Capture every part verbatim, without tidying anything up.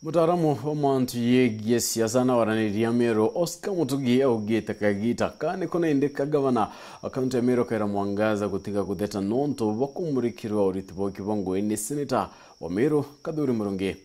Mutaaramu wa mantu yegie siasa na waraniria Meru, Oscar Mutugi, augite kagita ka niko nindi ka gavana wa kaunti ya Meru Kawira Mwangaza gutiga kutheta nontu bwa kumurikirwa uriti bwa kibongwe ni seneta wa Meru Kathuri Murungi.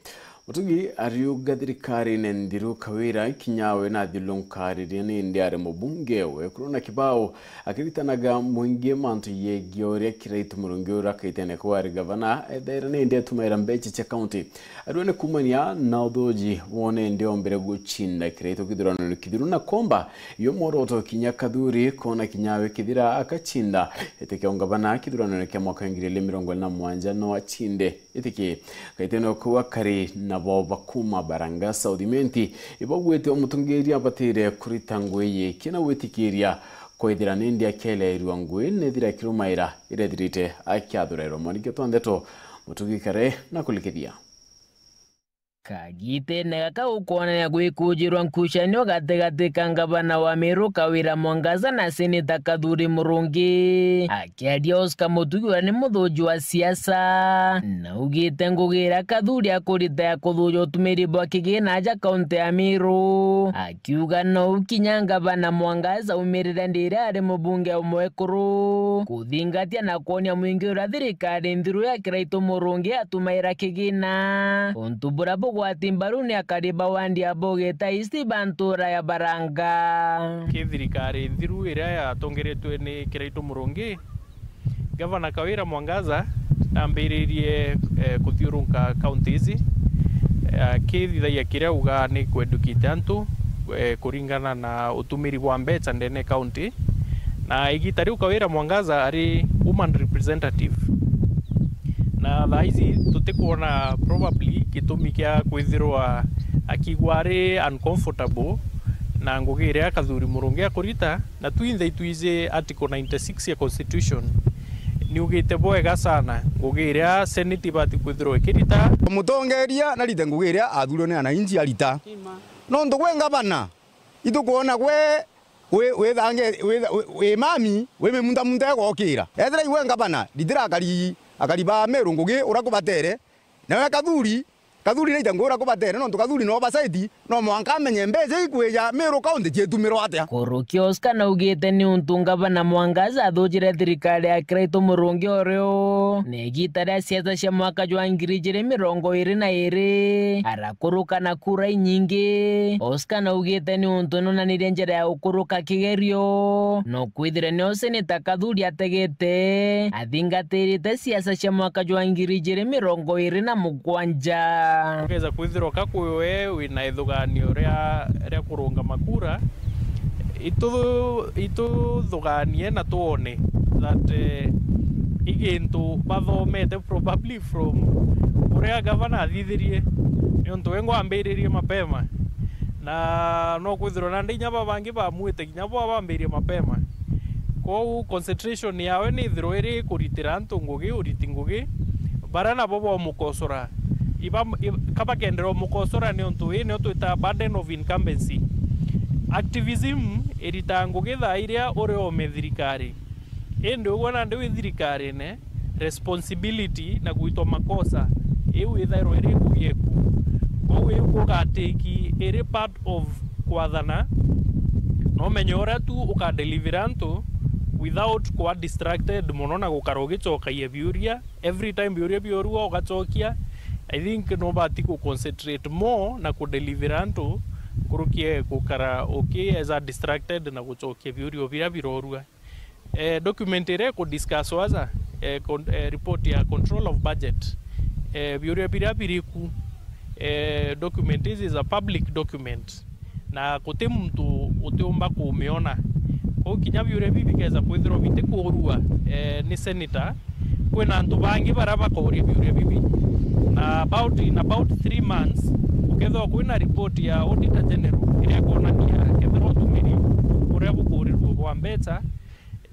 Mutugi ariuga thirikarine nthiru Kawira kinya we nathiurunkaaririe nindi ari mubunge wekuru na kibao, akiritanaga mwingi mantu yegie uria Kiraitu Murungi uria akaitene kuba ari gavana, ethaira nindi atumaira mbecha cia kaunti. Ariwe ni kumania na uthuji wone ndi ombere gucinda Kiraitu kithurano kithiru na komba yo mworoto kinya Kathuri kona kinya we kithira akacinda ete kia ungavana kithurano kia mwaka wa ngiri igiri mirongo iri na mugwanja no acinde. Itiki gaitene kuu akari nabo bakuma Baranga South Imenti ibagwite umutungiria abatire kurita ngui yiki na gwitikiria kwithira nindi akieleerua ngui nethira akirumaira irethirite akiathurairwa mwaniki twa ndeto Mutugi kare na kulikithia. Kagitene gaka gukwonania gwikujirwa nkucanio gatigati ka ngavana wa Meru Kawira Mwangaza na seneta Kathuri Murungi. Akiaria Oscar Mutugi uria ni muthuji wa siasa, naugite ngugi iria Kathuri akurita ya kuthuja utumiri bwa kigina aja kaunti ya Meru, akiuga nou kinya ngavana Mwangaza aumirire ndi iria ari mubunge umwe kuru kuthingatia na kwonia mwingi uria thirikari nthiru ya Kiraitu Murungi atumaira kigina, untu buria bugwati mbaru ni akari ba wandi ya Bogita East ba ntura ya Baranga. Ki thirikari nthiru iria yatongeretwe ni Kiraitu Murungi, Gavana Kawira Mwangaza nambiririe, eh, kuthiurunka counties, eh, akithithagia kiria auga ni ku educate antu, eh, kuringana na utumiri bwa mbeca ndene county. Na igita riu Kawira Mwangaza ari woman representative. Na thaa ici tutikwona probably gitumi kia kwithirwa akigua ari uncomfortable na ngugi iria Kathuri Murungi akurita, na twinthe itwiji article ninety-six ya constitution niugite bwega sana ngugi iria senate ibati kwithirwa ikirita. Mutongeria narite ngugi iria athurirwe ni ananchi arita. Nontu gwe ngavana, itukwona gwe wi, withange, wi, wi, wi mami, wi mimuntamunta igokira. Ethira iwe ngavana, ritira akari, akari ba Meru ngugi uria kubatere, nawe Kathuri, Kathuri naita ngugi uria kubatere, nontu Kathuri no oversight, no mwanka amenye mbeca ikwija Meru County ciitumirwa atia. Kuruki Oscar naugite ni untu ngavana Mwangaza athujire thirikari ya Kiraitu Murungi urio, na igita ria siasa cia mwaka jwa ngiri ijiri mirongo iri na iri, arakuruka na kura inyingi. Oscar naugite ni untu nonanirie njira ya gukuruka kigerio, no kwithire nio seneta Kathuri ategete athingatirite siasa cia mwaka jwa ngiri ijiri mirongo iri na mugwanja. Ukeza kwithirwa ka kwi we wina ithuganio ria, ria kurungama kura, itu-, ituthuganie na twone that, eh, i gintu bathomete probably from uria gavana athithirie, niuntu we ngwambiririe mapema, na no kwithirwa nandi inya babangi bamuite kinya bo bambirie mapema. Kwou concentration yawe ni ithirwa iri kuritira antu ngugi, uriti ngugi, baria nabo bomukosora. Iba, i-, ka bakendera umukosora niuntu ii nio twitaga burden of incumbency. Activism iritaa ngugi thaa iria uri ome thirikari. Indi ugwe nandi wi thirikarine, responsibility na gwitwa makosa, iu ithairwa iri ngugi eku. Kwou iu kugatiki iri part of kwathana, na umenye uria tu ukadelivera antu without kwa distracted mono na gukara ugicokagia biuria. Every time biuria biorua ugacokia, I think nubati ku concentrate more na kudelivera antu nkuruki e gukara uki eza distracted na gucokia biuria biria birorua. Eh, document iria iku discuss waza, eh, con-, eh, report ya control of budget, eh, biuria biria biriku, eh, document ici is a public document, na guti muntu utiumba kumiona. Kwou kinya biuria bibi bikeza kwithirwa bitikuurua, eh, ni senator, kwina antu bangi baria bakauria biuria bibi. Na about, in about three months, ukethirwa kwina report ya Auditor General iria ikonania kethirwa utumiri uria bukuurirwe bwa mbeca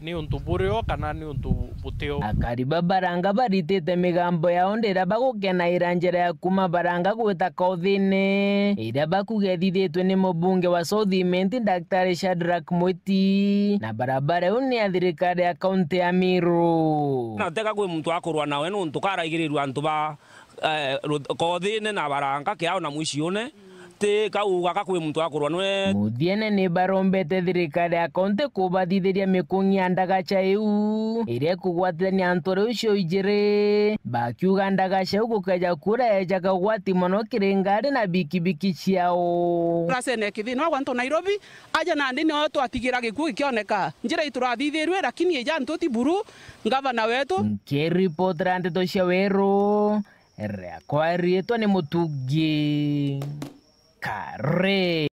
ni untu burio kana ni untu butio. Akari ba Baranga baritite migambo yao ndiria bagukenaira njira ya kuma Baranga gwita Kauthine, iria bakuga ithithitwe ni mubunge wa South Imenti, Daktari Shadrack Mwiti, na barabara iu ni ya thirikari ya kaunti ya Meru. Na teka kwi muntu akurwa nawe nuntu karaigirirua antu ba eh, ru-, kothine na baranga kiao na mwiciune, ti kauga ka kwi muntu akurwa nwe. Muthiene ni barombete thirikari ya kaunti kubathithiria mikung'i ya ndagaca iu iria ikugwatithania antu riu cio ijiri, bakiuga ndagaca iu gukeja kuura ejaga ugwati mono kiri ngari na bikibiki ciao. Turacene kithina gwantu Nairobi, aja nandi nio twatigira gikuo gikioneka. Njira iturathithirwe, lakini ija ntuti buru, ngavana wetu. Nkiripotera ndeto cia Weru, riakwa riitwa ni Mutugi Kare.